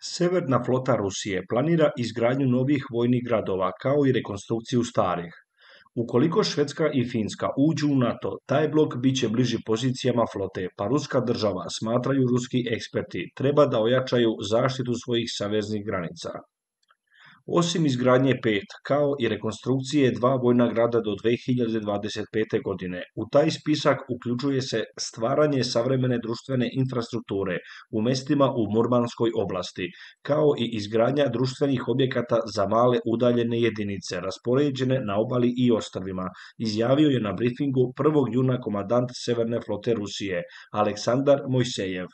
Severna flota Rusije planira izgradnju novih vojnih gradova kao i rekonstrukciju starih. Ukoliko Švedska i Finska uđu u NATO, taj blok bit će bliži pozicijama flote, pa ruska država, smatraju ruski eksperti, treba da ojačaju zaštitu svojih saveznih granica. Osim izgradnje pet, kao i rekonstrukcije dva vojna grada do 2025. godine, u taj spisak uključuje se stvaranje savremene društvene infrastrukture u mestima u Murmanskoj oblasti, kao i izgradnja društvenih objekata za male udaljene jedinice raspoređene na obali i ostrvima, izjavio je na brifingu 1. juna komandant Severne flote Rusije, Aleksandar Mojsejev.